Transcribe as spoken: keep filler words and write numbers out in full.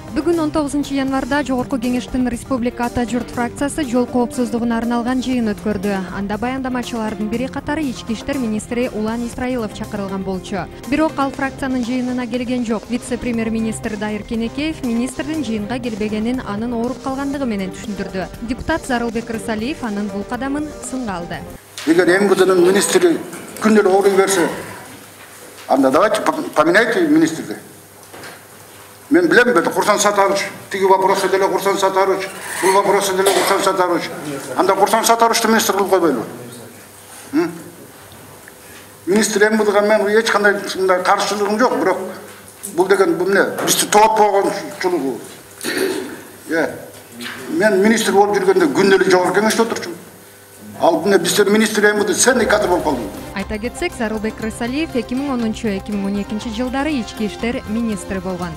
Бүгүн он тогузунчу январда Жогорку Кеңештин Республика Ата Журт фракциясы жол коопсуздугуна арналган жыйын өткөрдү. Анда баяндамачылардын бири катары ички иштер министри Улан Исраилов чакырылган болчу. Бирок ал фракциянын жыйынына келген жок. Вице-премьер-министр Дайыр Кенекеев министрдин жыйынга келбегенин анын ооруп калгандыгы менен түшүндүрдү. Депутат Зарылбек Рысалиев анын бул кадамын сынга алды. Эгер МВДнын министри күндөр ооруй берсе, анда давайте поменяйте министрди. Мен билем, бе, Курсан Сатарович, тиги вопросы деле Курсан Сатарович, бул вопросы деле Курсан Сатарович. Анда Курсан Сатаровичти министр кылып койбойлу. Министр МВДга мен эч кандай мындай каршылыгым жок, бирок бул деген бул эмне? Бизди тоотпогончулугу. Э, мен министр болуп жүргөндө күндөөлүк жогорку кеңеште отурчумун. Ал эмне биздер министр МВД сенди кадр болуп калдым. Айта кетсек, Зарылбек Рысалиев эки миң онунчу — эки миң он экинчи жылдары ички иштер министри болгон.